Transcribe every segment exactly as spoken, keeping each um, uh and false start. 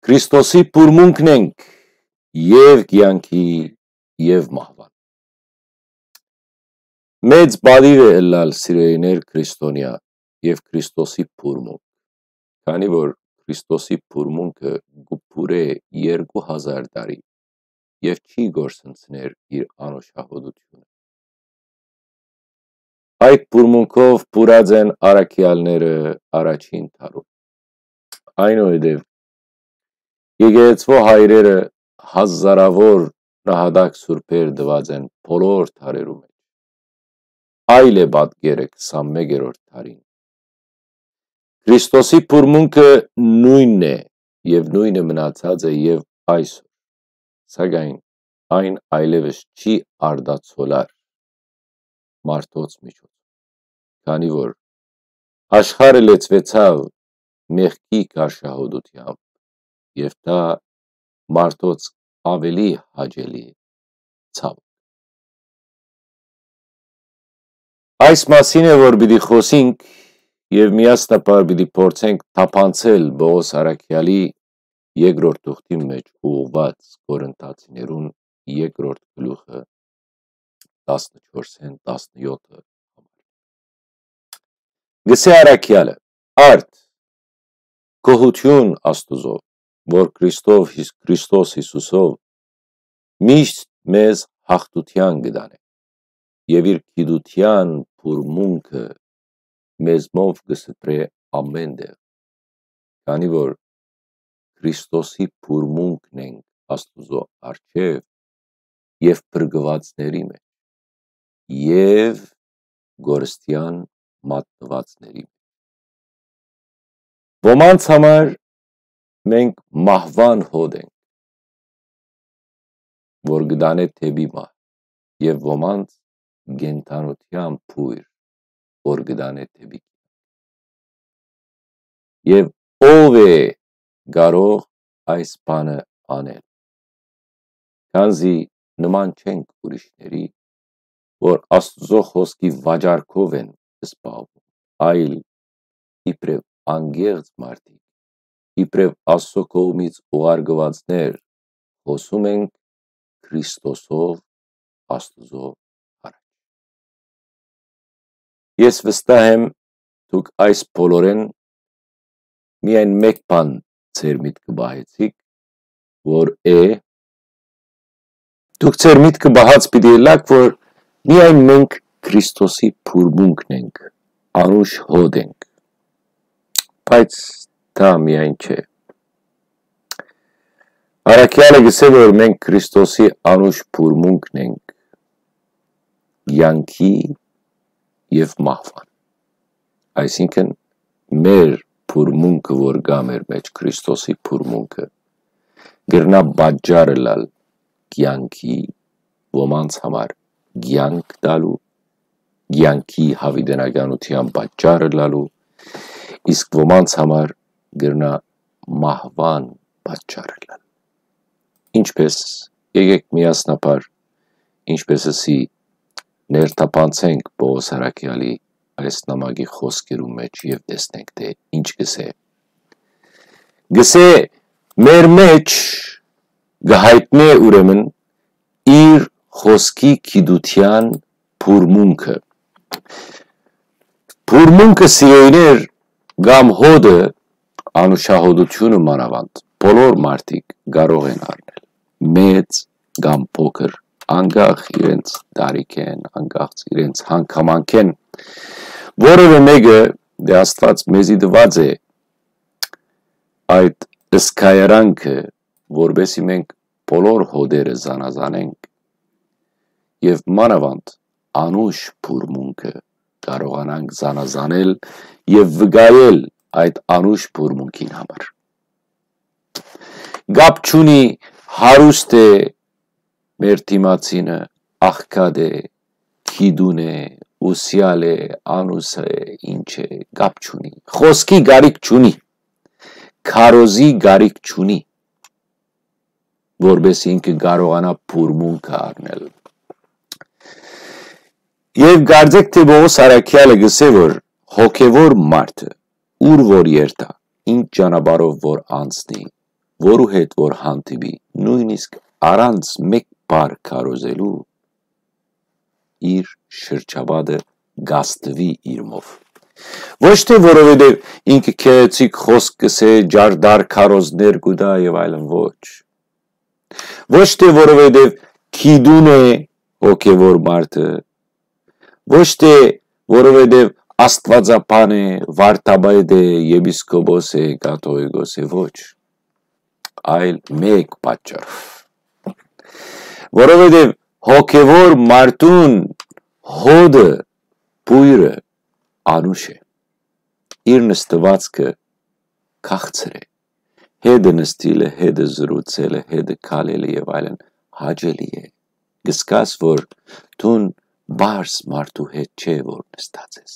Քրիստոսի բուրմունքն ենք, եւ կեանքի, եւ մահուան։ Մեծ պատիւ է ըլլալ, սիրելիներ, քրիստոնեայ եւ Քրիստոսի բուրմունք, քանի որ Քրիստոսի բուրմունքը կը բուրէ երկու հազար տարի եւ չի կորսնցներ իր անուշահոտութիւնը։ Այդ բուրմունքով բուրած են առաքեալները առաջին դարուն։ Այնուհետեւ եկեղեցւոյ հայրերը հազարաւոր նահատակ սուրբեր տուած են բոլոր դարերու մէջ։ Այլ է պատկերը քսանմեկերորդ դարին։ Քրիստոսի բուրմունքը նոյնն է եւ նոյնը մնացած է եւ այսօր, սակայն այն այլեւս չի արտացոլար մարդոց միջոցով, քանի որ աշխարհը լեցուեցաւ մեղքի գարշահոտութեամբ, եւ դա մարդոց աւելի հաճելի է, ցաւ։ Այս մասին է, որ պիտի խօսինք եւ միասնաբար պիտի փորձենք թափանցել Պողոս առաքեալի երկրորդ թուղթին մէջ ուղղուած Կորինթացիներուն երկրորդ գլուխը, տասնչորսէն տասնեօթը համար։ Գսե առաքեալը. «Արդ, գոհութիւն Աստուծոյ, որ Քրիստով Հիս-, Քրիստոս Յիսուսով միշտ մեզ յաղթութեան կը տանէ եւ իր գիտութեան բուրմունքը մեզմով կը սփռէ ամէն տեղ, քանի որ Քրիստոսի բուրմունքն ենք Աստուծոյ առջեւ եւ փրկուածների մէջ եւ կորստեան մատնուածների մէջ»։ Ոմանց համար մենք մահուան հոտ ենք, որ կը տանէ դէպի մահ, եւ ոմանց կենդանութեան բոյր, որ կը տանէ դէպի կեանք։ Եւ ո՞վ է կարող այս բանը անել, քանզի նման չենք ուրիշների, որ Աստուծոյ խօսքի վաճառքով են զբաղվում, այլ իբրեւ անկեղծ մարդիկ, իբրեւ Աստուծոյ կողմից ուղարկուածներ, խօսում ենք Քրիստոսով Աստուծոյ առաջ։ Ես վստահ եմ, դուք այս բոլորէն միայն մէկ բան ձեր միտքը պահեցիք, որ է, դուք ձեր միտքը պահած պիտի ըլլաք, որ միայն մենք Քրիստոսի բուրմունքն ենք, անուշ հոտ ենք։ Բայց դա միայն չէ։ Առաքեալը գսէ, որ մենք Քրիստոսի անուշ բուրմունքն ենք, կեանքի եւ մահուան։ Այսինքն, մեր բուրմունքը, որ կայ մեր մէջ, Քրիստոսի բուրմունքը, կրնայ պատճառ ըլլալ կեանքի, ոմանց համար կեանք տալու, կեանքի յաւիտենականութեան պատճառ ըլլալու, իսկ ոմանց համար կրնայ մահուան պատճառ ըլլալ։ Ինչպէս, եկէք միասնաբար, ինչպէս ըսի, ներթափանցենք Պողոս առաքեալի այս նամակի խօսքերուն մէջ եւ տեսնենք թէ ինչ կսէ։ Գսէ, մեր մէջ կը յայտնէ ուրեմն իր խօսքի գիտութեան բուրմունքը։ Բուրմունքը, սիրելիներ, կամ հոտը, անուշահոտութիւնը մանաւանդ, բոլոր մարդիկ կարող են առնել, մեծ կամ փոքր, անկախ իրենց տարիքէն, անկախ իրենց հանգամանքէն, որևէ մէկը, դե, Աստուած մեզի տուած է այդ զգայարանքը, որպեսզի մենք բոլոր հոտերը զանազանենք եւ մանաւանդ անուշ բուրմունքը կարողանանք զանազանել եւ վկայել այդ անուշ բուրմունքին համար։ Կապ չունի հարուստ է մեր դիմացինը, աղքատ է, գիտուն է, ուսեալ է, անուս է, ինչ է, կապ չունի։ Խօսքի կարիք չունի, քարոզի կարիք չունի, որպեսզի ինքը կարողանայ բուրմունքը առնել։ Եւ կարծեք թէ Պողոս առաքեալը գսէ, որ հոգեվոր մարդը, ուր որ երթայ, ինչ ճանապարհով որ անցնի, որու հետ որ հանդիպի, նոյնիսկ առանց մէկ բառ քարոզելու, իր շրջապատը կաստուի իրմով։ Ոչ թե որովհետեւ ինքը գեղեցիկ խօսք կ'ըսէ, ջարդար քարոզներ կու տայ եւ այլն, ոչ։ Ոչ թե որովհետեւ գիտուն է հոգեւոր մարդը, ոչ թե որովհետեւ աստուածաբան է, վարդապետ է, եպիսկոպոս է, կաթողիկոս է, ոչ։ Այլ մէկ պատճառով։ Որովհետեւ հոգեւոր մարդուն հոտը, բոյրը անուշ է։ Իր նստուածքը քաղցր է։ Հետը նստիլը, հետը զրուցելը, հետը քալելը եւ այլն հաճելի է։ Կ'զգաս որ դուն պարզ մարդու հետ չէ որ նստած ես,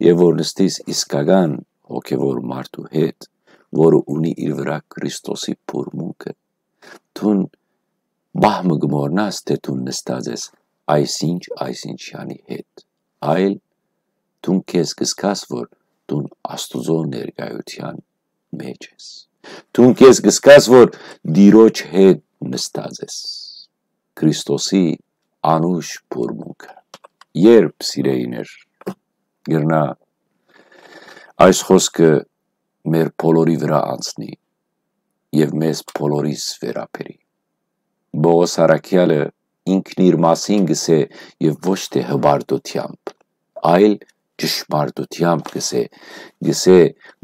եւ որ նստիս իսկական հոգեւոր մարդու հետ, որը ունի իր վրայ Քրիստոսի բուրմունքը, դուն պահ մը կը մոռնաս թէ դուն նստած ես այսինչ, այսինչյանի հետ, այլ դուն քեզ կ'զգաս որ դուն Աստուծոյ ներկայութեան մէջ ես։ Դուն քեզ կ'զգաս որ Տիրոջ հետ նստած ես, Քրիստոսի անուշ բուրմունքը։ Երբ, սիրելիներ, կրնայ այս խօսքը մեր բոլորի վրայ անցնի եւ մեզ բոլորիս վերաբերի։ Պողոս առաքեալը ինքն իր մասին կ'ըսէ, եւ ոչ թէ հպարտութեամբ, այլ ճշմարտութեամբ կ'ըսէ, կ'ըսէ,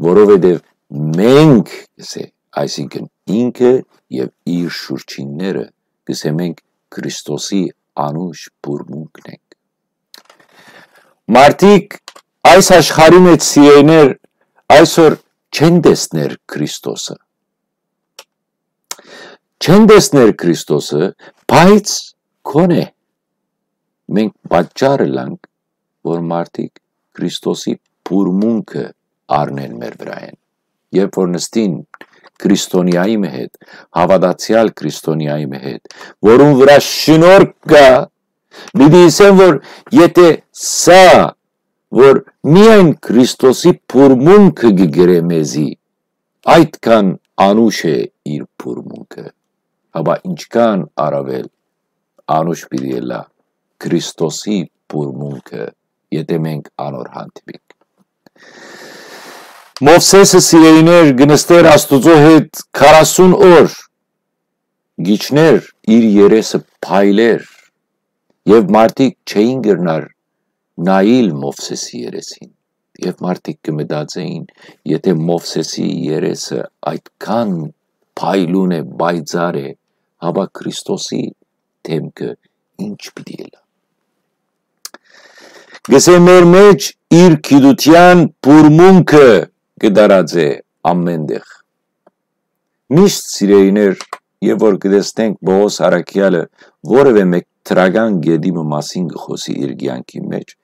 որովհետեւ մենք, կ'ըսէ, այսինքն ինքը եւ իր շուրջինները, կ'ըսէ, մենք Քրիստոսի անուշ բուրմունքն ենք։ Մարդիկ այս աշխարհի մէջ, սիրելիներ, այսօր չեն տեսներ Քրիստոսը։ Չեն տեսներ Քրիստոսը, բայց գոնե մենք պատճառ ըլանք, որ մարդիկ Քրիստոսի բուրմունքը առնեն մեր վրայէն։ Երբ որ նստին քրիստոնեայի մը հետ, հաւատացեալ քրիստոնեայի մը հետ, որուն վրայ շնորհք կայ, պիտի ըսեն որ եթէ սա, որ միայն Քրիստոսի բուրմունքը կը կրէ մեզի, այդքան անուշ է իր բուրմունքը, հապա ինչքան առաւել անուշ պիտի ըլլայ Քրիստոսի բուրմունքը, եթէ մենք անոր հանդիպինք։ Մովսէսը, սիրելիներ, կը նստէր Աստուծոյ հետ քառասուն օր, կ'իջնէր, իր երեսը փայլէր, եւ մարդիկ չէին կրնար նայիլ Մովսէսի երեսին։ Եւ մարդիկ կը մտածէին, եթէ Մովսէսի երեսը այդքան փայլուն է, պայծառ է, հապա Քրիստոսի դէմքը ինչ պիտի ըլլայ։ Կ'ըսէ, մեր մէջ իր գիտութեան բուրմունքը կը տարածէ ամէն տեղ։ Միշտ, սիրելիներ, եւ որ կը տեսնենք Պողոս առաքեալը որեւէ մէկ դրական կետի մը մասին կը խօսի իր կեանքի մէջ,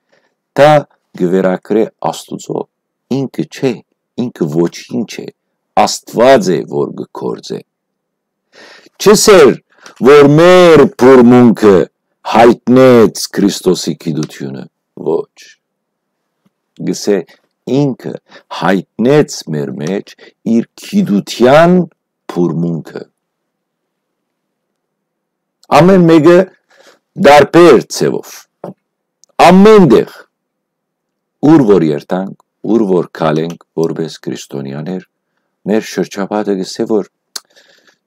դա կը վերագրէ Աստուծոյ, ինքը չէ, ինքը ոչինչ է, Աստուած է որ կը գործէ։ Չ'ըսէր որ մեր բուրմունքը յայտնեց Քրիստոսի գիտութիւնը, ոչ, կ'ըսէ, ինքը յայտնեց մեր մէջ իր գիտութեան բուրմունքը։ Ամէն մէկը տարբեր ձեւով, ամէն տեղ, ուր որ երթանք, ուր որ քալենք որպէս քրիստոնեաներ, մեր շրջապատը կ'ըսէ որ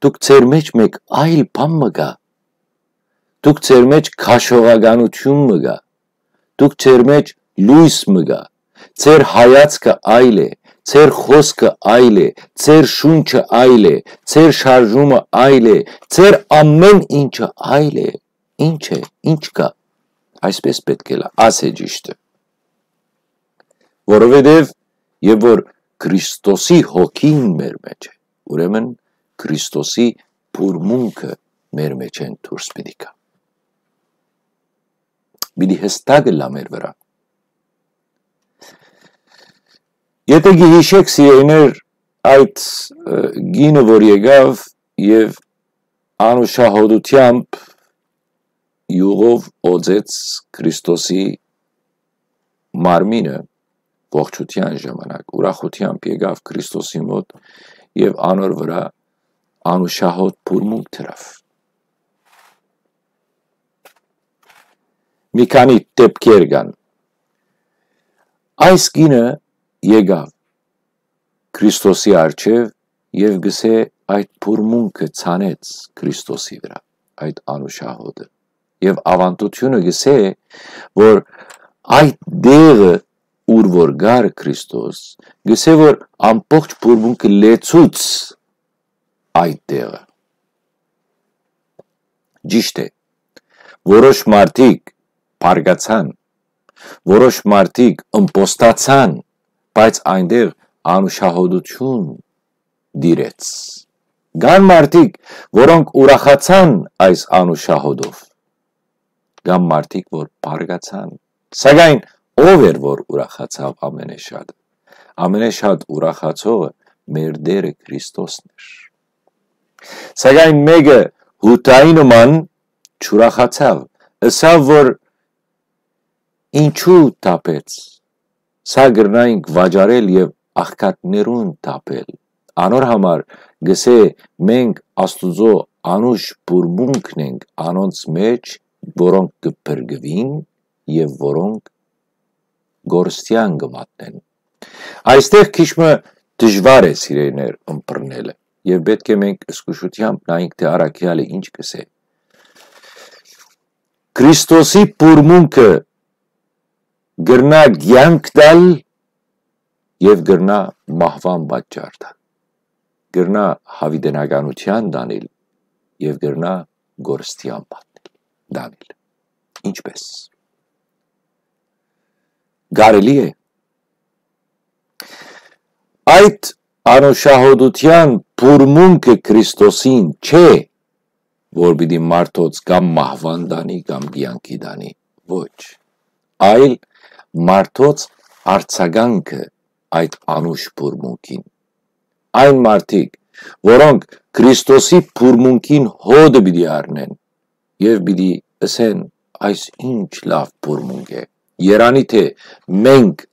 դուք ձեր մէջ մէկ այլ բան մը կայ, դուք ձեր մէջ քաշողականութիւն մը կայ, դուք ձեր մէջ լոյս մը կայ, ձեր հայացքը այլ է, ձեր խօսքը այլ է, ձեր շունչը այլ է, ձեր շարժումը այլ է, ձեր ամէն ինչը այլ է։ Ինչ է, ինչ կայ, այսպես պէտք է լա, ասէ ճիշդը։ Որովհետեւ եւ որ Քրիստոսի հոգին մեր մէջ է, ուրեմն Քրիստոսի բուրմունքը մեր մէջէն դուրս պիտի գայ, պիտի հստակ ըլլայ մեր վրայ։ Եթէ գիհիշէք, սիրելիներ, այդ, ը, կինը որ եկաւ եւ անուշահոտութեամբ իւղով օծեց Քրիստոսի մարմինը, ողջութեան ժամանակ, ուրախութեամբ եկաւ Քրիստոսի մօտ եւ անոր վրայ անուշահոտ բուրմունք դրաւ։ Մի քանի դէպքեր կան։ Այս կինը եկաւ Քրիստոսի առջեւ եւ գսէ, այդ բուրմունքը ցանեց Քրիստոսի վրայ, այդ անուշահոտը։ Եւ աւանդութիւնը գսէ, որ այդ դեղը, ուր որ գար Քրիստոս, գսէ, որ ամբողջ բուրմունքը լեցուց այդ դեղը։ Ճիշդ է, որոշ մարդիկ բարկացան, որոշ մարդիկ ըմպոստացան, բայց այնտեղ անուշահոտութիւն տիրեց։ Կան մարդիկ, որոնք ուրախացան այս անուշահոտով, կան մարդիկ, որ բարկացան։ Սակայն ո՞վ էր, որ ուրախացաւ ամենեշատը։ Ամենեշատ ուրախացողը մեր Տէրը Քրիստոսն էր։ Սակայն մէկը Յուդայի նման չուրախացաւ, ըսաւ, որ ինչու թափեց։ Սա կրնայինք վաճառել եւ աղքատներուն թափել։ Անոր համար գսէ, մենք Աստուծոյ անուշ բուրմունքն ենք անոնց մէջ, որոնք կը փրկուին եւ որոնք կորստեան կը մատնեն։ Այստեղ քիչ մը դժուար է, սիրելիներ, ըմբռնելը, եւ պէտք է մենք զգուշութեամբ նայենք, թէ առաքեալը ինչ կ'ըսէ։ Քրիստոսի բուրմունքը կրնայ կեանք տալ եւ կրնայ մահուան պատճառ տալ, կրնայ յաւիտենականութեան տանիլ եւ կրնայ կորստեան պատնել, տանիլ։ Ինչպէս։ Կարելի՞ է։ Այդ անուշահոտութեան բուրմունքը Քրիստոսին չէ, որ պիտի մարդոց կամ մահուան տանի, կամ կեանքի տանի։ Ոչ, այլ մարդոց արձագանքը այդ անուշ բուրմունքին։ Այն մարդիկ, որոնք Քրիստոսի բուրմունքին հոտը պիտի առնեն եւ պիտի ըսեն. «Այս ինչ լաւ բուրմունք է»։ Երանի թէ մենք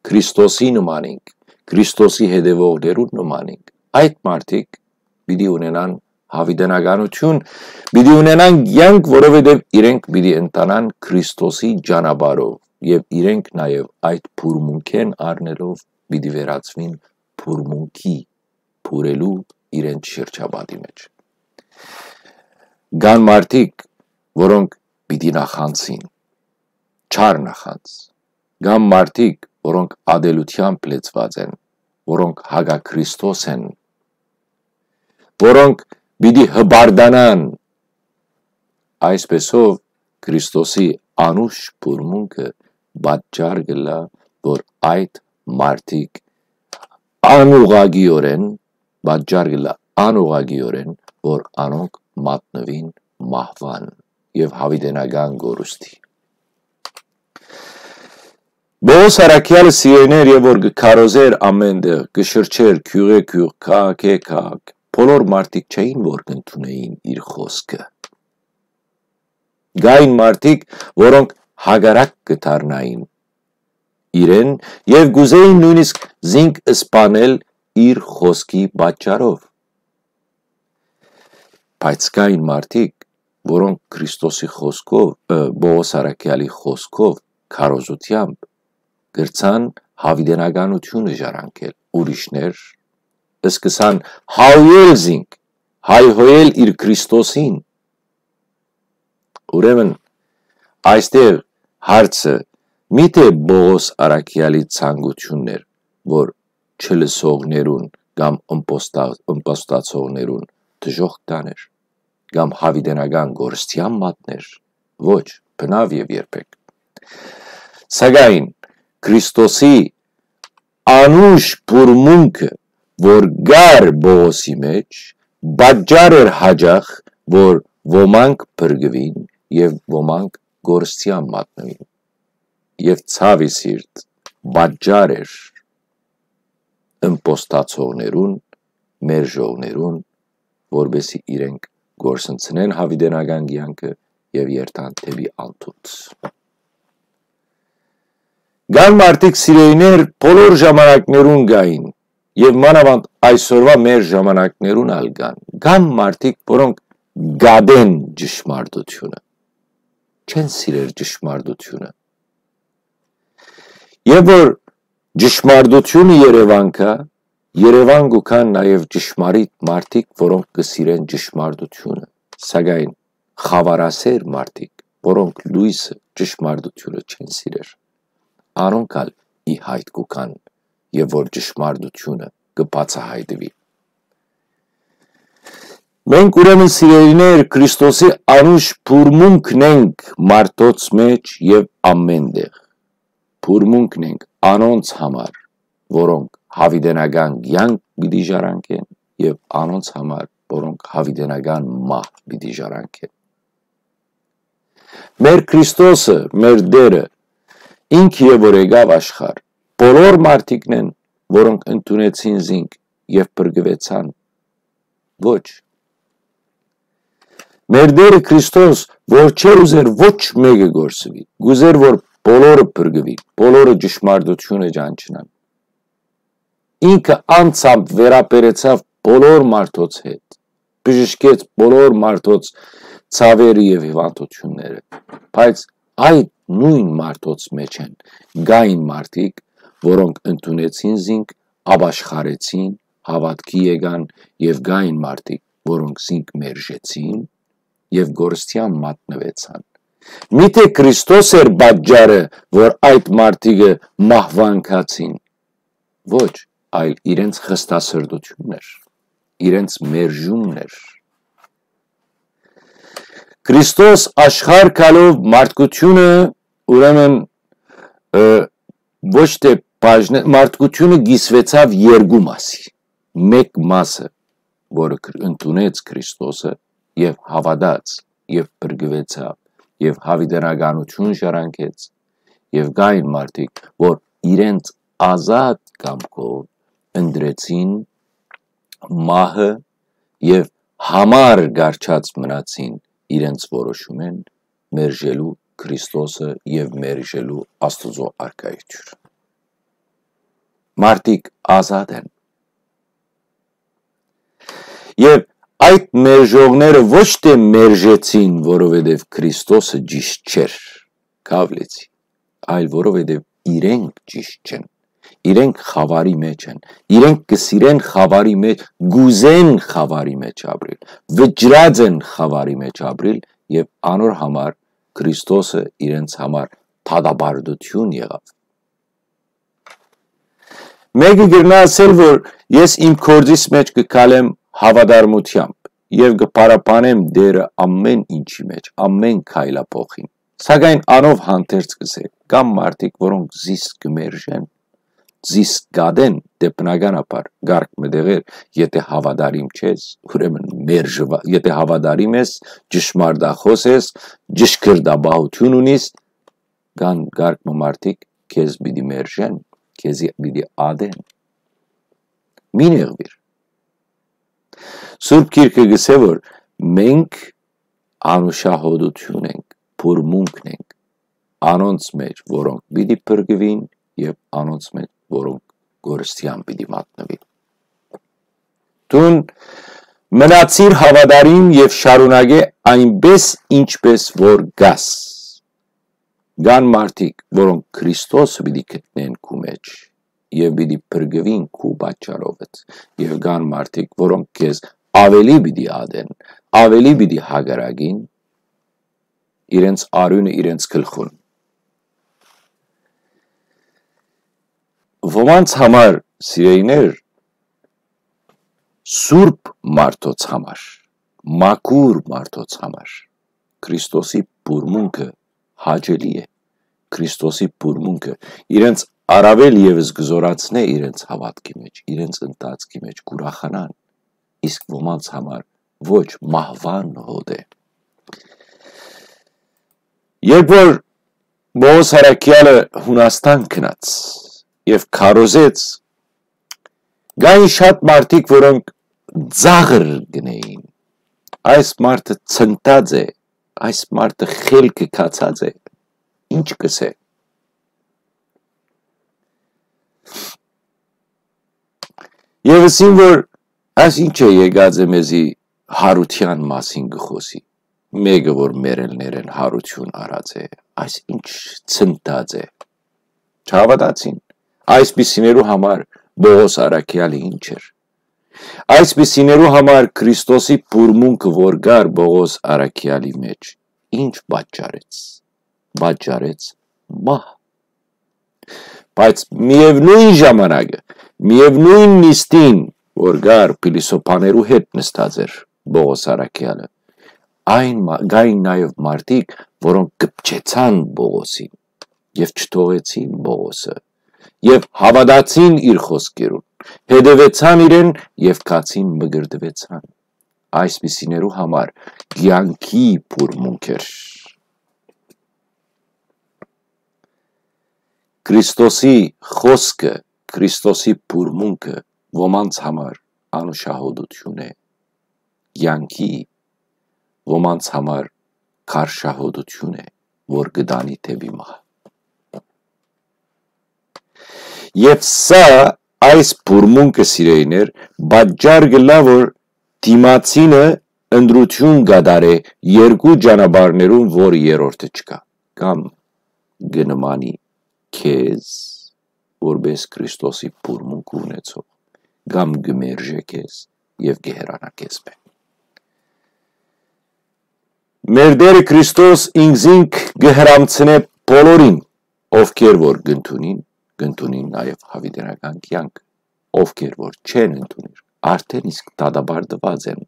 Քրիստոսի նման ենք, Քրիստոսի հետեւողներուն նման ենք։ Այդ մարդիկ պիտի ունենան յաւիտենականութիւն, պիտի ունենան կեանք, որովհետեւ իրենք պիտի ընթանան Քրիստոսի ճանապարհով եւ իրենք նաեւ այդ բուրմունքէն առնելով պիտի վերածուին բուրմունքի, բուրելու իրենց շրջապատի մէջ։ Կան մարդիկ, որոնք պիտի նախանձին, չար նախանձ, կան մարդիկ, որոնք ատելութեամբ լեցուած են, որոնք հակաքրիստոս են, որոնք պիտի հպարտանան։ Այսպեսով, Քրիստոսի անուշ բուրմունքը պատճառ կ'ըլլայ, որ այդ մարդիկ անուղղակիորեն, պատճառ կ'ըլլայ անուղղակիորեն, որ անոնք մատնուին մահուան եւ յաւիտենական կորուստի։ Պողոս առաքեալը, սիրելիներ, եւ որ կը քարոզէր ամէն տեղ, կը շրջէր գիւղէ գիւղ, քաղաքէ քաղաք, բոլոր մարդիկ չէին, որ կ'ընդունէին իր խօսքը։ Կային մարդիկ, որոնք հակառակ կը դառնային իրեն եւ կ'ուզէին նոյնիսկ զինք սպանել իր խօսքի պատճառով։ Բայց կային մարդիկ, որոնք Քրիստոսի խօսքով, ը, Պողոս առաքեալի խօսքով, քարոզութեամբ կրցան յաւիտենականութիւնը ժառանգել։ Ուրիշներ սկսան հայհոյել զինք, հայհոյել իր Քրիստոսին։ Ուրեմն, այստեղ հարցը միթէ Պողոս առաքեալի ցանկութիւնն էր, որ չլսողներուն կամ ըմպոստա-, ըմպոստացողներուն դժոխք տանէր, կամ յաւիտենական կորստեան մատներ։ Ոչ, բնաւ եւ երբեք։ Սակայն Քրիստոսի անուշ բուրմունքը, որ կար Պողոսի մէջ, պատճառ էր յաճախ, որ ոմանք փրկուին եւ ոմանք կորստեան մատնուին։ Եւ ցաւի սիրտ, պատճառ էր ըմպոստացողներուն, մերժողներուն, որպեսզի իրենք կորսնցնեն յաւիտենական կեանքը եւ երթան դէպի անտուց։ Կան մարդիկ, սիրելիներ, բոլոր ժամանակներուն կային եւ մանաւանդ այսօրուայ մեր ժամանակներուն ալ կան, կան մարդիկ, որոնք գատեն ճշմարտութիւնը, չեն սիրեր ճշմարտութիւնը։ Եւ որ ճշմարտութիւնը Երեւան կայ, Երեւան կու գան նաեւ ճշմարիտ մարդիկ, որոնք կը սիրեն ճշմարտութիւնը, սակայն խաւարասեր մարդիկ, որոնք լոյսը, ճշմարտութիւնը չեն սիրեր, անոնք ալ ի յայտ կու գան, եւ որ ճշմարտութիւնը կը բացայայտուի։ Մենք, ուրեմն, սիրելիներ, Քրիստոսի անուշ բուրմունքն ենք մարդոց մէջ եւ ամէն տեղ։ Բուրմունքն ենք անոնց համար, որոնք յաւիտենական կեանք պիտի ժառանգեն, եւ անոնց համար, որոնք յաւիտենական մահ պիտի ժառանգեն։ Մեր Քրիստոսը, մեր Տէրը, ինքը եւ որ եկաւ աշխարհ, բոլոր մարդիկն են, որոնք ընդունեցին զինք եւ փրկուեցան։ Ոչ։ Մեր Տէրը Քրիստոս, որ չէր ուզեր ոչ մէկը կորսուի, կ'ուզեր, որ բոլորը փրկուին, բոլորը ճշմարտութիւնը ճանչնան։ Ինքը անձամբ վերաբերեցաւ բոլոր մարդոց հետ, բժշկեց բոլոր մարդոց ցաւերը եւ հիւանդութիւնները, բայց այդ նոյն մարդոց մէջ են կային մարդիկ, որոնք ընդունեցին զինք, ապաշխարեցին, հաւատքի եկան, եւ կային մարդիկ, որոնք զինք մերժեցին եւ կորստեան մատնուեցան։ Միթէ Քրիստոս էր պատճառը, որ այդ մարդիկը մահուան գացին։ Ոչ, այլ իրենց խստասրտութիւնն էր, իրենց մերժումն էր։ Քրիստոս աշխարհ գալով մարդկութիւնը, ուրեմն, ը, ոչ թէ բաժնե-, մարդկութիւնը կիսուեցաւ երկու մասի։ Մէկ մասը, որը Քր-, ընդունեց Քրիստոսը եւ հաւատաց, եւ փրկուեցաւ, եւ յաւիտենականութիւն ժառանգեց, եւ կային մարդիկ, որ իրենց ազատ կամքով ընտրեցին մահը եւ համար կառչած մնացին իրենց որոշումէն, մերժելու Քրիստոսը եւ մերժելու Աստուծոյ արքայութիւնը։ Մարդիկ ազատ են։ Եւ այդ մերժողները ոչ թէ մերժեցին, որովհետեւ Քրիստոսը ճիշտ չէր, կավլեցի, այլ որովհետեւ իրենք ճիշտ չեն։ Իրենք խաւարի մէջ են։ Իրենք կը սիրեն խաւարի մէջ, կ'ուզեն խաւարի մէջ ապրիլ, վճռած են խաւարի մէջ ապրիլ, եւ անոր համար Քրիստոսը իրենց համար դատապարտութիւն եղաւ։ Մէկը կրնայ ասել, որ ես իմ գործիս մէջ կը քալեմ հաւատարմութեամբ եւ կը փառաբանեմ Տէրը ամէն ինչի մէջ, ամէն քայլափոխին։ Սակայն անով հանդերձ կ'ըսէ, կան մարդիկ, որոնք զիս կը մերժեն, զիս կատեն, դե բնականաբար կարգ մը տեղեր, եթե հաւատարիմ չես, ուրեմն մերժուա-, եթե հաւատարիմ ես, ճշմարտախոս ես, ճշգրտաբանութիւն ունիս, կան կարգ մը մարդիկ քեզ պիտի մերժեն, քեզի պիտի ատեն։ Մի նեղվիր։ Սուրբ Գիրքը կ'ըսէ, որ մենք անուշահոտութիւն ենք, բուրմունքն ենք, անոնց մէջ, որոնք պիտի փրկուին, եւ անոնց մէջ, որոնք կորստեան պիտի մատնուին։ Դուն մնացիր հաւատարիմ եւ շարունակէ այնպէս, ինչպէս որ կաս։ Կան մարդիկ, որոնք Քրիստոսը պիտի գտնեն քու մէջ եւ պիտի փրկուին քու պատճառովդ, եւ կան մարդիկ, որոնք քեզ աւելի պիտի ատեն, աւելի պիտի հակառակին, իրենց արիւնը իրենց գլխուն։ Ոմանց համար, սիրելիներ, սուրբ մարդոց համար, մաքուր մարդոց համար Քրիստոսի բուրմունքը հաճելի է։ Քրիստոսի բուրմունքը իրենց առավել եւս կը զորացնէ իրենց հաւատքի մէջ, իրենց ընթացքի մէջ կ'ուրախանան, իսկ ոմանց համար ոչ, մահուան հոտ է։ Երբ որ Պողոս Առաքեալը Յունաստան գնաց եւ քարոզեց, կային շատ մարդիկ, որոնք ծաղր գնային։ «Այս մարդը ցնտած է, այս մարդը խելքը գացած է, ինչ կ'ըսէ»։ Եւ ըսին որ այս ինչ է եկած է մեզի, հարութեան մասին կը խօսի, մէկը որ մեռելներէն հարութիւն առած է, այս ինչ ցնդած է։ Չհաւատացին։ Այսպիսիներու համար Պողոս առաքեալը ինչ էր։ Այսպիսիներու համար Քրիստոսի բուրմունքը որ կար Պողոս առաքեալի մեջ, ինչ պատճառեց։ Պատճառեց մահ։ Բայց միեւնոյն ժամանակը, միեւնոյն նիստին որ կար փիլիսոփաներու հետ նստած էր Պողոս առաքեալը, այն կային նաեւ մարդիկ, որոնք կպչեցան Պողոսին եւ չթողեցին Պողոսը, եւ հաւատացին իր խօսքերուն, հետեւեցան իրեն եւ գացին մկրտուեցան։ Այսպիսիներու համար կեանքի բուրմունք էր։ Քրիստոսի խօսքը, Քրիստոսի բուրմունքը ոմանց համար անուշահոտութիւն է, կեանքի, ոմանց համար քարշահոտութիւն է, որ կը տանի դէպի մահ։ Եւ սա, այս բուրմունքը, սիրելիներ, պատճառ կ'ըլլայ որ դիմացինը ընտրութիւն կատարէ երկու ճանապարհներուն, որ երրորդը չկայ, կամ կը նմանի քեզ որպէս Քրիստոսի բուրմունքը ունեցող, կամ կը մերժէ քեզ եւ կը հեռանայ քեզմէ։ Մեր Տէրը Քրիստոս ինքզինք կը հրամցնէ բոլորին, ովքեր որ կ'ընդունին, կ'ընդունին նաեւ յաւիտենական կեանք, ովքեր որ չեն ընդունիր, արդէն իսկ դատապարտուած են։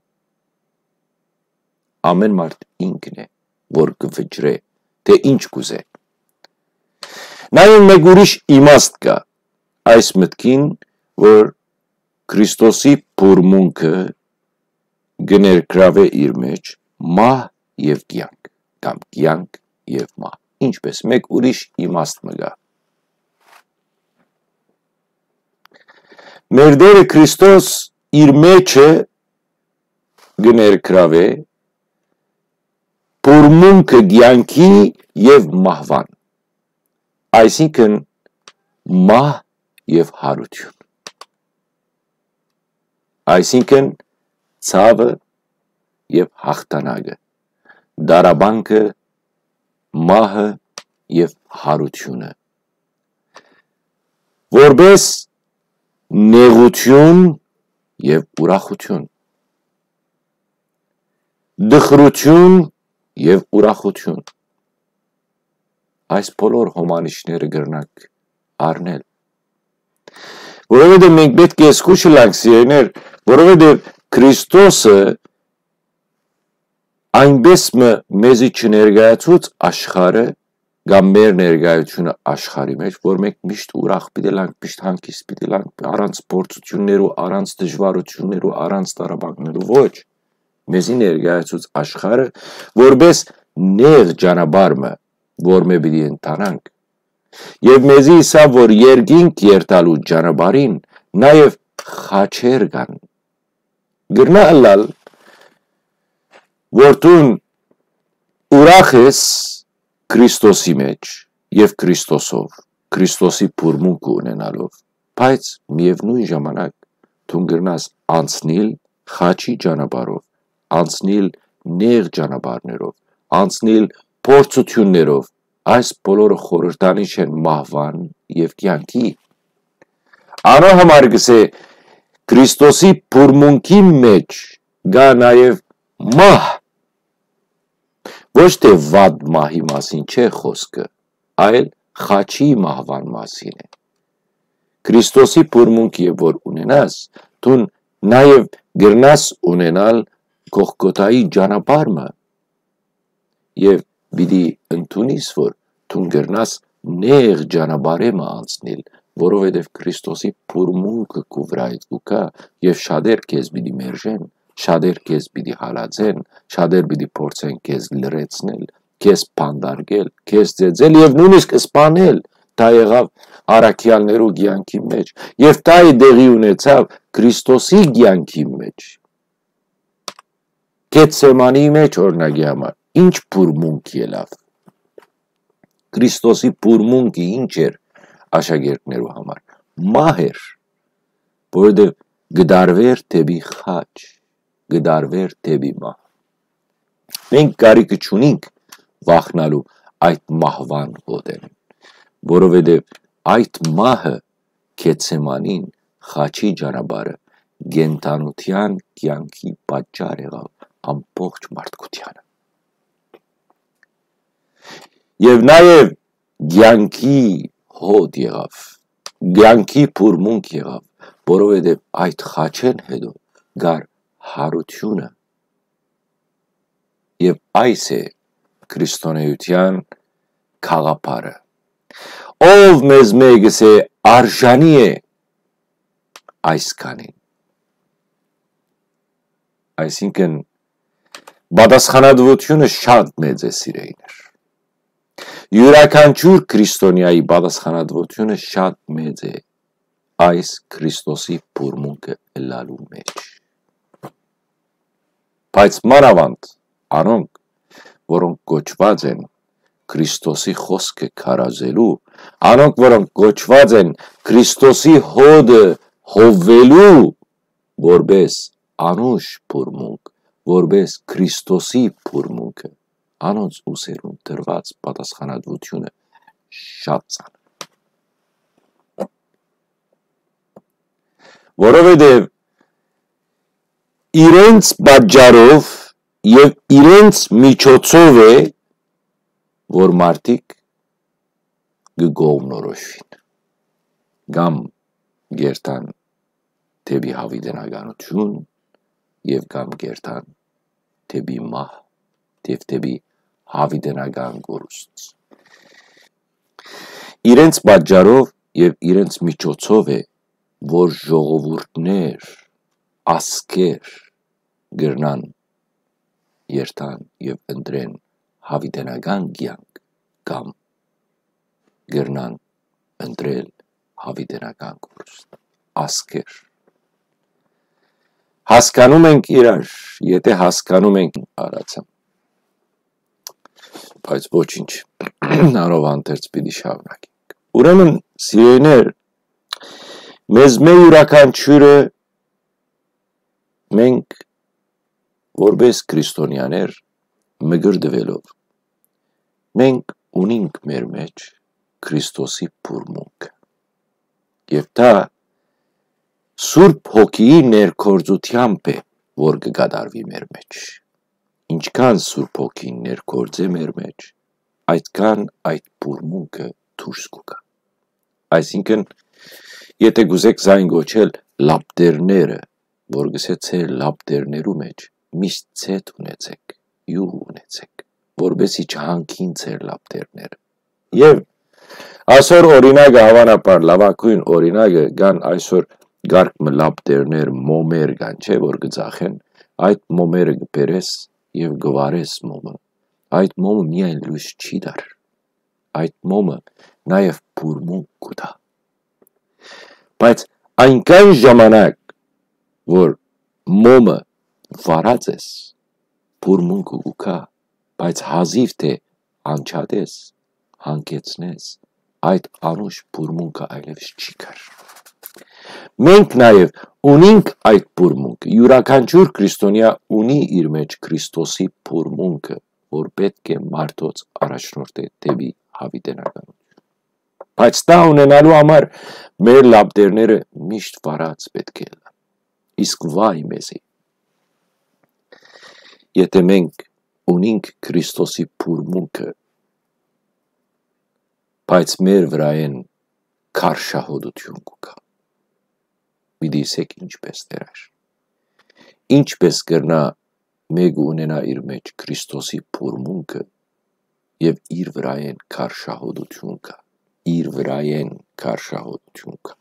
Ամէն մարդ ինքն է որ կը վճռէ թէ ինչ կ'ուզէ։ Նաեւ մէկ ուրիշ իմաստ կայ այս մտքին, որ Քրիստոսի բուրմունքը կը ներգրաւէ իր մեջ մահ եւ կեանք, կամ կեանք եւ մահ, ինչպես մէկ ուրիշ իմաստ մը կայ։ Մեր Տէրը Քրիստոս իր մեջը կը ներգրաւէ բուրմունքը կեանքի եւ մահուան, այսինքն՝ մահ եւ յարութիւն, այսինքն՝ ցաւը եւ յաղթանակը, տառապանքը, մահը եւ յարութիւնը, որպէս նեղութիւն եւ ուրախութիւն, տխրութիւն եւ ուրախութիւն։ Այս բոլոր հոմանիշները կրնանք առնել, որովհետեւ մենք պէտք է զգուշ ըլլանք, սիրելիներ, որովհետեւ Քրիստոսը այնպէս մը մեզի չներկայացուց աշխարհը, կամ մեր ներկայությունը աշխարհի մեջ, որ մենք միշտ ուրախ պիտի ըլանք, միշտ հանգիստ պիտի ըլանք, առանց փորձութիւններու, առանց դժուարութիւններու, առանց տառապանքներու, ոչ։ Մեզի ներկայացուց աշխարհը որպէս նեղ ճանապարհ մը, որ մէ պիտի ընթանանք։ Եւ մեզի ըսաւ որ երկինք երթալու ճանապարհին նաեւ խաչեր կան։ Կրնայ ըլլալ որ դուն ուրախ ես Քրիստոսի մեջ եւ Քրիստոսով, Քրիստոսի բուրմունքը ունենալով, բայց միեւնոյն ժամանակ դուն կրնաս անցնիլ խաչի ճանապարհով, անցնիլ նեղ ճանապարհներով, անցնիլ փորձութիւններով, այս բոլորը խորհրդանիշ են մահուան եւ կեանքի։ Անոր համար կ'ըսէ, Քրիստոսի բուրմունքի մեջ կայ նաեւ մահ, ոչ թէ վատ մահի մասին չէ խօսքը, այլ խաչի մահուան մասին է։ Քրիստոսի բուրմունքը որ ունենաս, դուն նաեւ կրնաս ունենալ Գողգոթայի ճանապարհ մը, եւ պիտի ընդունիս որ դուն կրնաս նեղ ճանապարհ մը անցնիլ, որովհետեւ Քրիստոսի բուրմունքը քու վրայդ կու գայ, եւ շատեր քեզ պիտի մերժեն, շատեր քեզ պիտի հալածեն, շատեր պիտի փորձեն քեզ լռեցնել, քեզ բանտարկել, քեզ ծեծել եւ նոյնիսկ սպանել։ Դա եղաւ առաքեալներու կեանքի մեջ, եւ դա է տեղի ունեցաւ Քրիստոսի կեանքի մեջ։ Գեթսեմանի մեջ, օրինակի համար, ինչ բուրմունք ելաւ։ Քրիստոսի բուրմունքը ինչ էր աշակերտներու համար։ Մահ էր, որովհետեւ կը տարուէր դէպի խաչ, կը տարուէր դէպի մահ։ Մենք կարիքը չունինք վախնալու այդ մահուան հոտէն, որովհետեւ այդ մահը Գեթսեմանին խաչի ճանապարհը կենդանութեան կեանքի պատճառ եղաւ ամբողջ մարդկությանը։ Եւ նաեւ կեանքի հոտ եղաւ, կեանքի բուրմունք եղաւ, որովհետեւ այդ խաչէն յետոյ կար յարութիւնը։ Եւ այս է քրիստոնէութեան գաղափարը։ Ով մեզմէ կ'ըսէ արժանի է այսքանին։ Այսինքն, պատասխանատուութիւնը շատ մեծ է, սիրելիներ։ Իւրաքանչիւր քրիստոնեայի պատասխանատուութիւնը շատ մեծ է այս Քրիստոսի բուրմունքը ըլլալու մէջ։ Բայց մանաւանդ անոնք, որոնք կոչուած են Քրիստոսի խօսքը քարոզելու, անոնք, որոնք կոչուած են Քրիստոսի հոտը հովելու, որպէս անուշ բուրմունք, որպէս Քրիստոսի բուրմունքը, անոնց ուսերուն տրուած պատասխանատուութիւնը շատ ծանր։ Որովհետեւ իրենց պատճառով եւ իրենց միջոցով է, որ մարդիկ կը կողմնորոշուին, կամ կ'երթան դէպի յաւիտենականութիւն եւ կամ կ'երթան դէպի մահ, եւ դէպի յաւիտենական կորուստ։ Իրենց պատճառով եւ իրենց միջոցով է, որ ժողովուրդներ, ազգեր կրնան երթան եւ ընտրեն յաւիտենական կեանք կամ կրնան ընտրել յաւիտենական կորուստ։ Ազգեր։ Հասկանում ենք իրար, եթե հասկանում ենք արածը։ Բայց ոչինչ, անով հանդերձ պիտի շարունակենք։ Ուրեմն, սիրելիներ, մեզմէ իւրաքանչիւրը մենք, որպէս քրիստոնեաներ, մկրտուելով, մենք ունինք մեր մէջ Քրիստոսի բուրմունքը։ Եւ դա Սուրբ Հոգիի ներգործութեամբ է, որ կը կատարուի մեր մէջ։ Ինչքան Սուրբ Հոգին ներգործէ մեր մէջ, այդքան այդ բուրմունքը դուրս կու գայ։ Այսինքն, եթե կ'ուզէք զայն կոչել լապտերները, որ կ'ըսէ ձեր լապտերներու մէջ միշտ ցետ ունեցէք, իւղ ունեցէք, որպէսզի չհանգին ձեր լապտերները։ Եւ այսօր օրինակը, հաւանաբար լաւագոյն օրինակը, կան այսօր կարգ մը լապտերներ, մոմեր կան, չէ՞, որ կը ծախեն, այդ մոմերը կը բերես եւ կը վառես մոմը։ Այդ մոմը միայն լոյս չի տար, այդ մոմը նաեւ բուրմունք կու տայ։ Բայց այնքան ժամանակ, որ մոմը վառած ես, բուրմունքը կու գայ, բայց հազիւ թէ անջատես, հանգեցնես, այդ անուշ բուրմունքը այլեւս չի գար։ Մենք նաեւ ունինք այդ բուրմունքը, իւրաքանչիւր քրիստոնեայ ունի իր մէջ Քրիստոսի բուրմունքը, որ պէտք է մարդոց առաջնորդէ դէպի յաւիտենականութիւն։ Բայց դա ունենալու համար մեր լապտերները միշտ վառած պէտք է ըլլան։ Իսկ վայ մեզի, եթե մենք ունինք Քրիստոսի բուրմունքը, բայց մեր վրայէն քարշահոտութիւն կու գայ։ Պիտի ըսէք ինչպէս, Տէր, ա՞յր։ Ինչպէս կրնայ մէկը ունենայ իր մէջ Քրիստոսի բուրմունքը եւ իր վրայէն քարշահոտութիւն գայ, իր վրայէն քարշահոտութիւն գայ։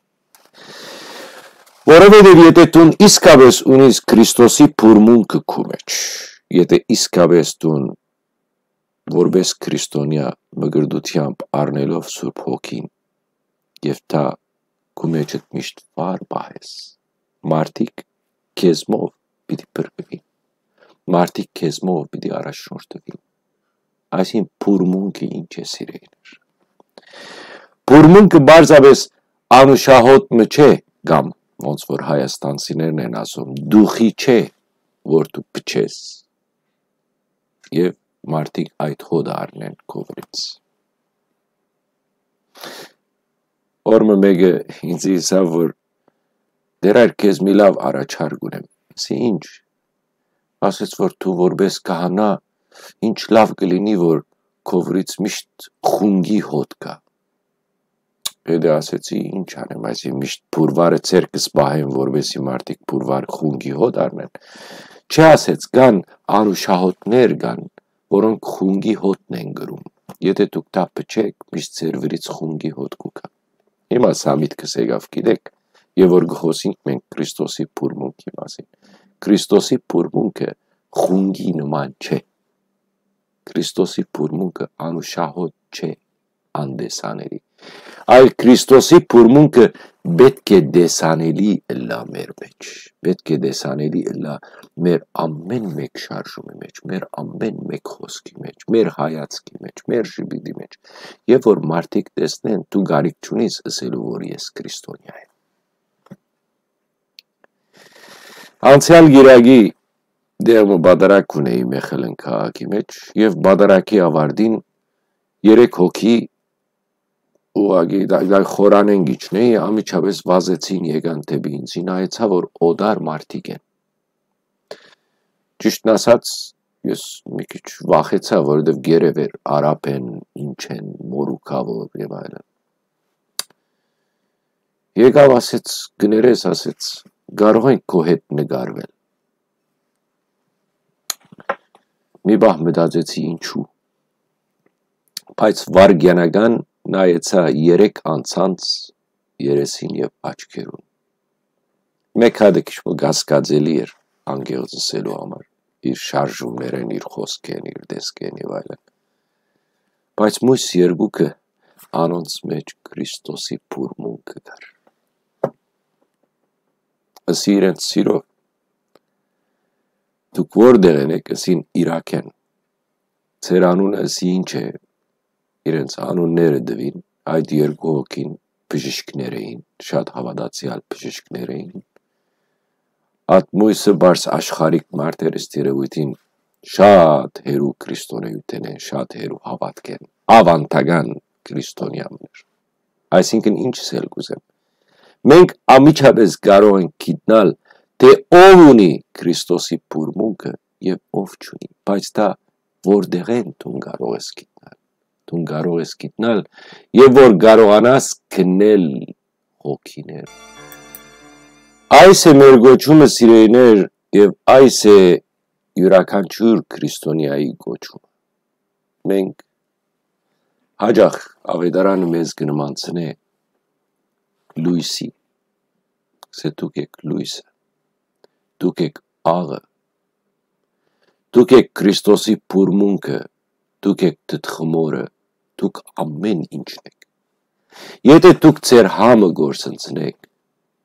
Որովհետեւ եթե դուն իսկապէս ունիս Քրիստոսի բուրմունքը քու մէջ, եթե իսկապէս դուն որպէս քրիստոնեայ մկրտութեամբ առնելով Սուրբ Հոգին, եւ դա քու մէջդ միշտ վառ պահես, մարդիկ քեզմով պիտի փրկուին, մարդիկ քեզմով պիտի առաջնորդուին։ Այսինքն, բուրմունքը ինչ է, սիրելիներ։ Բուրմունքը պարզապէս անուշահոտ մը չէ կամ ոնց որ հայաստանցիներն են ասում, դուխի չէ, որ դու փչես։ Եւ մարդիկ այդ հոտը առնեն քովրից։ Օր մը մեկը ինձ ըսաւ, որ «Դեռ այր քեզ մի լաւ առաջարկ ունեմ»։ Ասի, «Ինչ»։ Ասեց, որ դու որպես քահանա, ինչ լաւ կլինի, որ քովրից միշտ խունկի հոտ կայ։ Հետը ասեցի, «Ինչ անեմ, այսինքն միշտ փուրվարը ձեռքս պահեմ, որպեսզի մարդիկ փուրվար խունկի հոտ առնեն»։ Չէ, ասեց, կան անուշահոտներ կան, որոնք խունկի հոտն են կրում։ Եթե դուք դա փչեք, միշտ ձեր վրից խունկի հոտ կու գայ։ Հիմա սա միտքս եկաւ, գիտեք, եւ որ կը խոսենք մենք Քրիստոսի փուրմունքի մասին։ Քրիստոսի փուրմունքը խունկի նման չէ։ Քրիստոսի փուրմունքը անուշահոտ չէ, անտեսանելի։ Այլ Քրիստոսի փուրմունքը պէտք է տեսանելի ըլլայ մեր մէջ։ Պէտք է տեսանելի ըլլայ մեր ամէն մէկ շարժումի մէջ, մեր ամէն մէկ խօսքի մէջ, մեր հայացքի մէջ, մեր ժպիտի մէջ, եւ որ մարդիկ տեսնեն, դու կարիք չունիս ըսելու, որ ես քրիստոնեայ եմ։ Անցեալ կիրակի դեղ մը պատարագ ունէի Մեխելեն քաղաքի մէջ, եւ պատարագի աւարտին երեք հոգի ուղղակի դա, դա խորանեն գիչնեի, անմիջապէս վազեցին, եկան դէպի ինձ, նայեցայ, որ օտար մարդիկ են։ Ճիշդն ասած, ես մի քիչ վախեցայ, որովհետեւ գերեւեր արաբ են, ինչ են, մորուքաւոր եւ այլն։ Եկաւ, ասեց, «Կներես», ասեց, «կարող ենք քո հետ նկարվել»։ Մի պահ մտածեցի, ինչու, բայց վարգեանական նայեցայ երեք անցանց երեսին եւ աչքերուն։ Մէկ հատը քիչ մը կասկածելի էր, անկեղծ ըսելու համար, իր շարժումներէն, իր խօսքէն, իր տեսքէն եւ այլն։ Բայց մոյս երկուքը անոնց մէջ Քրիստոսի փուրմունքը կար։ Ըսի իրենց, «Սիրով, դուք որտեղ են եք»։ Ըսին, «Իրաք են»։ «Ձեր անունը», ըսի, «ինչ է»։ Իրենց անունները տուին, այդ երկու հոգին բժիշկներ էին, շատ հաւատացեալ բժիշկներ էին։ Ատմոյսը բարձ աշխարհիկ մարդ էր, ըստ երեւոյթին շատ հեռու քրիստոնեութենէն, շատ հեռու հաւատքէն, աւանդական քրիստոնեան էր։ Այսինքն, ինչ սել կուզեմ, մենք անմիջապէս կարող ենք գիտնալ, թէ ով ունի Քրիստոսի փուրմունքը եւ ով չունի, բայց դա որտեղէն դուն կարող ես գիտնալ։ Դուն կարող ես գիտնալ, եւ որ կարողանաս քննել հոգիներ։ Այս է մեր կոչումը, սիրելիներ, եւ այս է իւրաքանչիւր քրիստոնեայի կոչումը։ Մենք հաճախ Աւետարանը մեզ կը նմանցնէ լոյսի, սա դուք եք լոյսը, դուք եք աղը, դուք եք Քրիստոսի փուրմունքը, դուք եք թթխմորը, դուք ամէն ինչն եք։ Եթէ դուք ձեր համը գործընծնէք,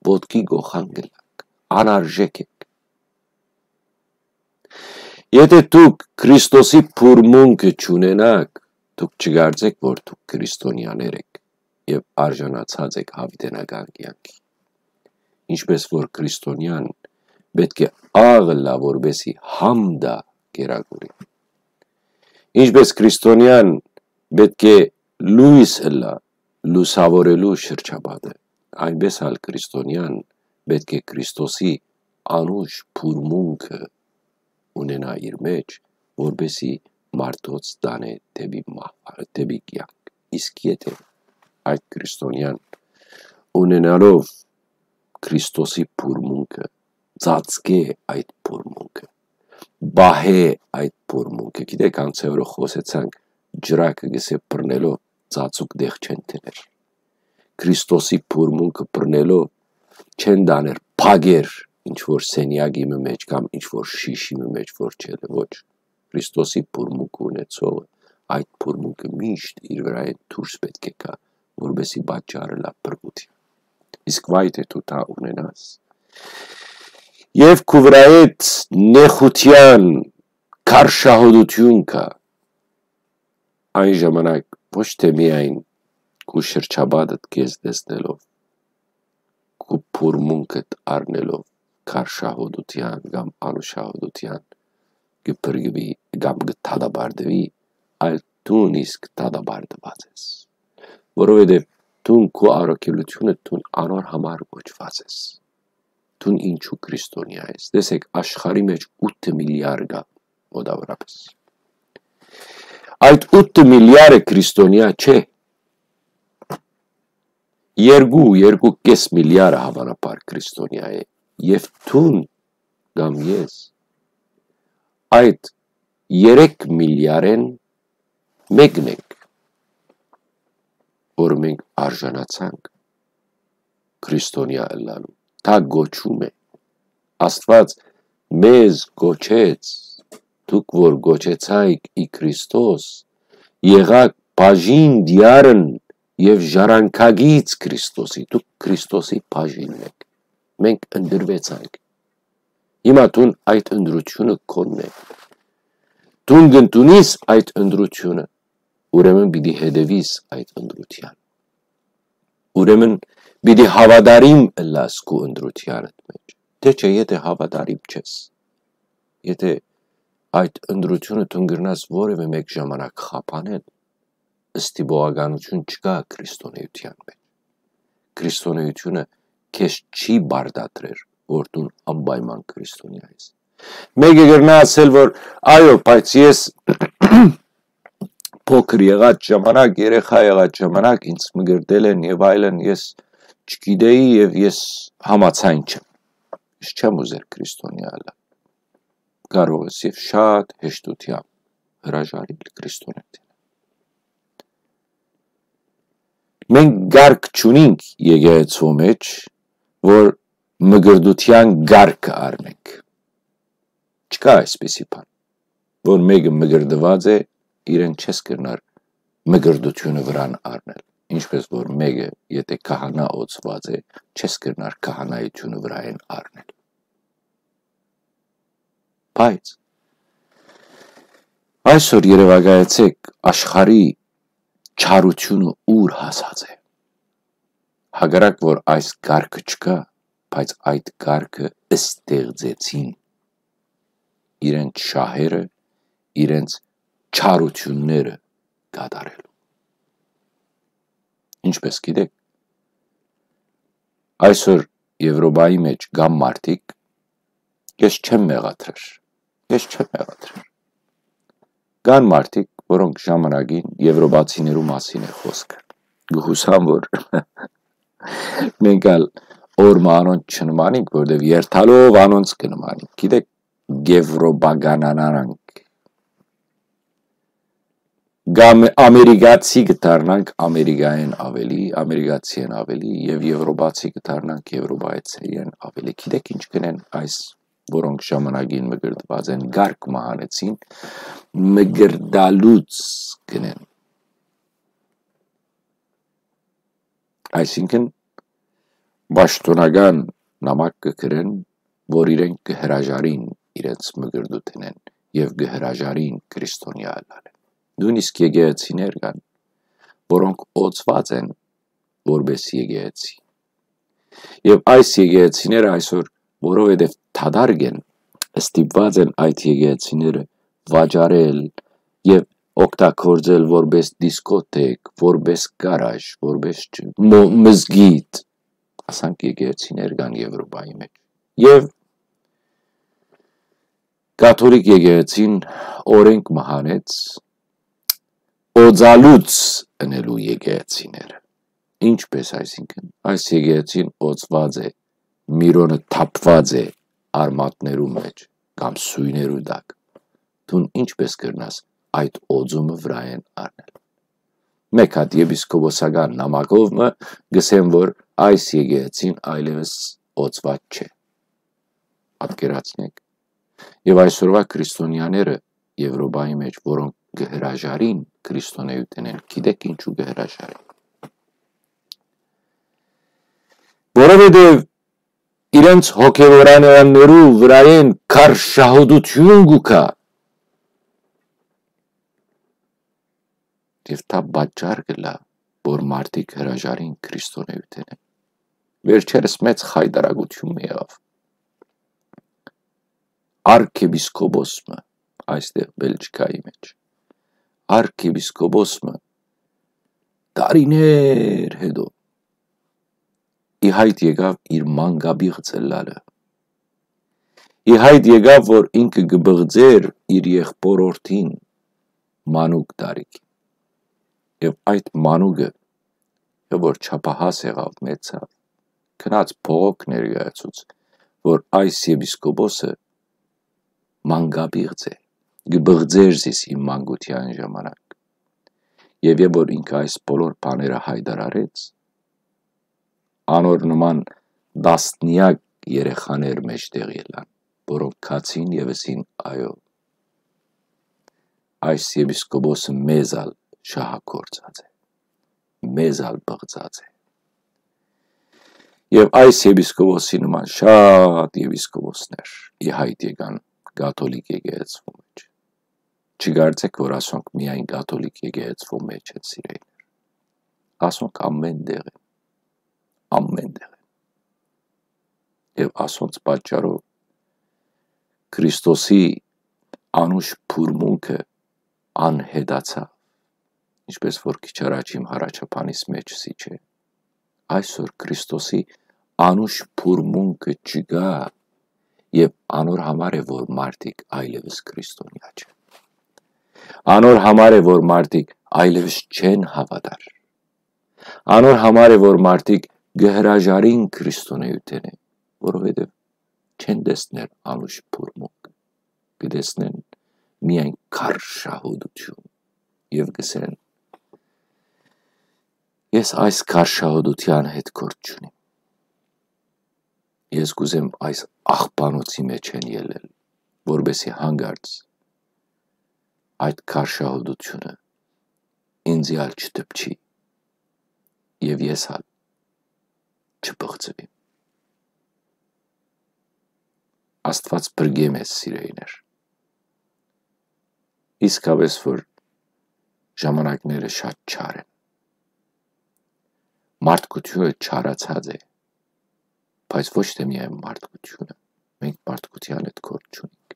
ոտքի գոխան կ'ըլլաք, անարժեք եք։ Եթէ դուք Քրիստոսի փուրմունքը չունենաք, դուք չկարծէք, որ դուք քրիստոնեաներ եք եւ արժանացած եք յաւիտենական կեանքի։ Ինչպէս որ քրիստոնեան պէտք է աղ ըլլայ, որպէսզի համ տայ կերակուրին, ինչպէս քրիստոնեան պէտք է լոյս ըլլայ, լուսաւորելու շրջապատը, այնպէս ալ քրիստոնեան պէտք է Քրիստոսի անուշ փուրմունքը ունենայ իր մէջ, որպէսզի մարդոց տանէ դէպի մահ-, դէպի կեանք։ Իսկ եթէ այդ քրիստոնեան, ունենալով Քրիստոսի փուրմունքը, ծածկէ այդ փուրմունքը, պահէ այդ փուրմունքը, գիտեք, անցեորը խօսեցանք, ջրակը գսե բռնելով ծածուկ տեղ չեն դներ։ Քրիստոսի փուրմունքը բռնելով չեն տաներ փագեր, ինչ որ սենյակի մը մէջ կամ ինչ որ շիշի մը մէջ որ չելը, ոչ։ Քրիստոսի փուրմունքը ունեցողը այդ փուրմունքը միշտ իր վրայէն դուրս պէտք է գայ, որպէսզի պատճառը լա փրկութիւն։ Իսկ վայ թէ դու դա ունենաս, եւ քու վրայէդ նեխութեան քարշահոտութիւն կայ, այն ժամանակ ոչ թէ միայն քու շրջապատդ քեզ տեսնելով, քու փուրմունքդ առնելով քարշահուդութեան կամ անուշահուդութեան կը փրկուի կամ կը դատապարտուի, այլ դուն իսկ դատապարտուած ես։ Որովհետեւ դուն քու առաքելությունը դուն անոր համար կոչուած ես։ Դուն ինչու քրիստոնեայ ես։ Տեսեք, աշխարհի մէջ ութ միլիար կայ մոտավորապես։ Այդ ութ միլիարը քրիստոնեայ չէ։ Երկու, երկու կէս միլիարը հաւանաբար քրիստոնեայ է։ Եւ դուն կամ ես այդ երեք միլիարէն մեկն ենք, որ մենք արժանացանք քրիստոնեայ ըլլալու։ Դա կոչում է։ Աստուած մեզ կոչեց, դուք որ կոչեցայք ի Քրիստոս, եղաք բաժին դիարն եւ ժառանգագից Քրիստոսի, դուք Քրիստոսի բաժինն եք, մենք ընտրուեցանք։ Հիմա դուն այդ ընտրությունը քոնն է, դուն կ'ընդունիս այդ ընտրությունը, ուրեմն պիտի հետեւիս այդ ընտրութեան, ուրեմն պիտի հաւատարիմ ըլլաս քու ընտրութեանդ մէջ, թէ չէ, եթե հաւատարիմ չես, եթե այդ ընտրությունը դուն կրնաս որևէ մէկ ժամանակ խափանել, ստիպողականություն չկայ քրիստոնէութեան մէջ։ Քրիստոնէութիւնը քեզ չի պարտադրեր, որ դուն անպայման քրիստոնեայ ես։ Մեկը կրնայ ասել, որ այո, բայց ես փոքր եղած ժամանակ, երեխայ եղած ժամանակ ինձ մկրտել են եւ այլն, ես չգիտեի եւ ես համաձայն չեմ։ Ես չեմ ուզեր քրիստոնեայ ըլլալ։ Կարող ես եւ շատ հեշտութեամբ հրաժարիլ քրիստոնեայ։ Մենք կարգ չունենք եկեղեցու մէջ, որ մկրտութեան կարգը առնենք։ Չկայ այսպիսի բան, որ մեկը մկրտուած է, իրեն չես կրնար մկրտութիւնը վրան առնել, ինչպես որ մեկը, եթե քահանայ օծուած է, չես կրնար քահանայութիւնը վրայէն առնել։ Բայց այսօր երեւակայեցէք, աշխարհի չարութիւնը ուր հասած է։ Հակառակ որ այս կարգը չկայ, բայց այդ կարգը ստեղծեցին իրենց շահերը, իրենց չարութիւնները կատարելու։ Ինչպես գիտեք, այսօր Եվրոպայի մէջ կան մարդիկ, ես չեմ մեղադրեր, ես չեմ մեղադրեր։ Կան մարդիկ, որոնք ժամանակին եվրոպացիներու մասին է խօսքը։ Կը յուսամ, որ մենք ալ օր մը անոնց չնմանինք, որտեւ երթալով անոնց կը նմանինք։ Գիտեք, եվրոպականանանք։ Կամ ամերիկացի կը դառնանք ամերիկայէն ավելի, ամերիկացիէն ավելի, եւ եվրոպացի կը դառնանք եվրոպայցիէն ավելի։ Գիտեք ինչ կ'ընեն այս, որոնք ժամանակին մկրտուած են, կարգ մը հանեցին, մկրտալուց կ'ընեն։ Այսինքն, պաշտօնական նամակ կը գրեն, որ իրենք կը հրաժարին իրենց մկրտութենէն եւ կը հրաժարին քրիստոնեայ ըլլալէն։ Նոյնիսկ եկեղեցիներ կան, որոնք օծուած են որպէս եկեղեցի։ Եւ այս եկեղեցիները այսօր, որովհետեւ դատարկ են, ստիպուած են այդ եկեղեցիները վաճառել եւ օգտագործել որպէս դիսկոթեկ, որպէս գարաժ, որպէս չ-, մո-, մզկիթ, ասանք եկեղեցիներ կան Եվրոպայի մէջ։ Եւ կաթոլիկ եկեղեցին օրենք մը հանեց օծալուց ընելու եկեղեցիները։ Ինչպես այսինքն, այս եկեղեցին օծված է, միրոնը թափված է արմատներու մեջ կամ սույներու տակ, դուն ինչպես կրնաս այդ օծումը վրայեն առնել։ Մեկ հատ եպիսկոպոսական նամակով մը գսեմ, որ այս եկեղեցին այլևս օծված չէ։ Պատկերացնեք։ Եւ այսօրվա քրիստոնյաները Եվրոպայի մեջ, որոնք կը հրաժարին քրիստոնեութենէն, գիտեք ինչու կը հրաժարին։ Որովհետեւ իրենց հոգեւորանեաններու վրայեն քարշահուդութիւն կու գայ։ Եւ դա պատճառ կ'ըլլայ, որ մարդիկ հրաժարին քրիստոնեութենէն։ վերջերս մեծ խայտարակութիւն մը եղաւ։ Արքեպիսկոպոս մը, այստեղ Բելգիայի մէջ, արքեպիսկոպոս մը տարիներ հետո ի հայտ եկաւ իր մանկապիղծ ըլլալը։ Ի հայտ եկաւ, որ ինքը կը բղձէր իր եղբոր օրդին մանուկ տարիք։ Եւ այդ մանուկը, որ չափահաս եղաւ, մեծաւ, գնաց բողոք ներկայացուց, որ այս եպիսկոպոսը մանկապիղծ է, կը բղձէր զիս իմ մանկութեան ժամանակ։ Եւ երբ որ ինքը այս բոլոր բաները հայտարարեց, անոր նման տասնեակ երեխաներ մէջտեղ ելան, որոնք գացին եւ ըսին. «Այո, այս եպիսկոպոսը մեզ ալ շահագործած է, մեզ ալ բղծած է»։ Եւ այս եպիսկոպոսի նման շատ եպիսկոպոսներ ի հայտ եկան կաթոլիկ եկեղեցւոյ մէջ։ Չկարծէք, որ ասոնք միայն կաթոլիկ եկեղեցւոյ մէջ են, սիրելիներ։ Ասոնք ամէն տեղ են, ամէն տեղ են։ Եւ ասոնց պատճառով Քրիստոսի անուշ փուրմունքը անհետացաւ, ինչպես որ քիչ առաջ իմ հառաչափանիս մէջ սի չէ։ Այսօր Քրիստոսի անուշ փուրմունքը չկայ, եւ անոր համար է, որ մարդիկ այլեւս քրիստոնեայ չեն։ Անոր համար է, որ մարդիկ այլեւս չեն հաւատար։ Անոր համար է, որ մարդիկ կը հրաժարին քրիստոնեութենէ, որովհետեւ չեն տեսներ անուշ փուրմունք, կը տեսնեն միայն քարշահոտութիւն եւ կ'ըսեն. «Ես այս քարշահոտութեան հետ գործ չունիմ։ Ես կ'ուզեմ այս աղբանոցի մէջէն ելլել, որպեսզի հանկարծ այդ քարշահոտութիւնը ինծի ալ չդպչի եւ ես ալ չբղծուիմ»։ Աստուած փրկէ մեզ, սիրելիներ։ Իսկապէս որ ժամանակները շատ չար են։ Մարդկութիւնը չարացած է, բայց ոչ թե միայն մարդկութիւնը, մենք մարդկութեան հետ գործ չունենք։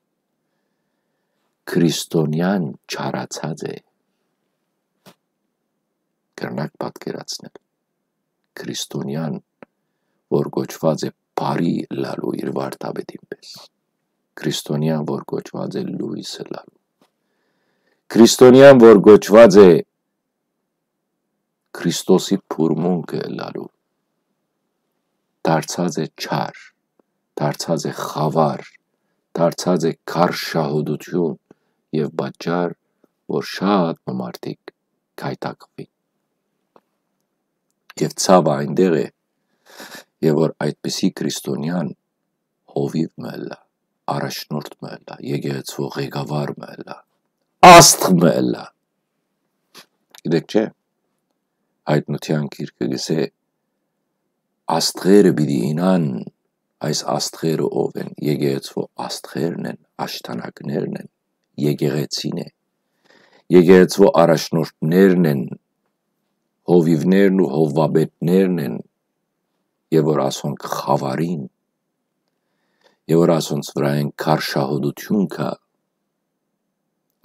Քրիստոնեան չարացած է, կրնակ պատկերացնել, քրիստոնեան, որ կոչուած է բարի ըլլալու իր վարդապետին պէս, քրիստոնեան, որ կոչուած է լոյս ըլլալու, քրիստոնեան, որ կոչուած է Քրիստոսի փուրմունքը ըլլալու, դարձած է չար, դարձած է խաւար, դարձած է քարշահոտութիւն եւ պատճառ, որ շատ մը մարդիկ գայթակղուին։ Եւ ցաւը այնտեղ է, եւ որ այդպիսի քրիստոնեան հովիւ մը ըլլայ, առաջնորդ մը ըլլայ, եկեղեցւոյ ղեկավար մը ըլլայ, աստղ մը ըլլայ։ Գիտեք չէ, Հայտնութեան գիրքը կ'ըսէ. «Աստղերը պիտի իյնան»։ Այս աստղերը ո՞վ են։ Եկեղեցւոյ աստղերն են, աշտանակներն են, եկեղեցին է, եկեղեցւոյ առաջնորդներն են, հովիւներն ու հովուապետներն են, եւ որ ասոնք խաւարին, եւ որ ասոնց վրայէն քարշահոտութիւն կայ,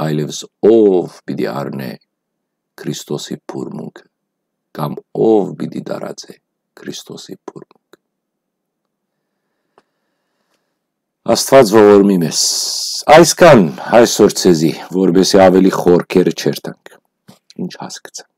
այլեւս ո՞վ պիտի առնէ Քրիստոսի փուրմունքը, կամ ո՞վ պիտի տարածէ Քրիստոսի փուրմունքը։ Աստուած ողորմի մեզ։ Այսքան այսօր ձեզի, որպեսզի ավելի խորքերը չերթանք։ Ինչ հասկցա։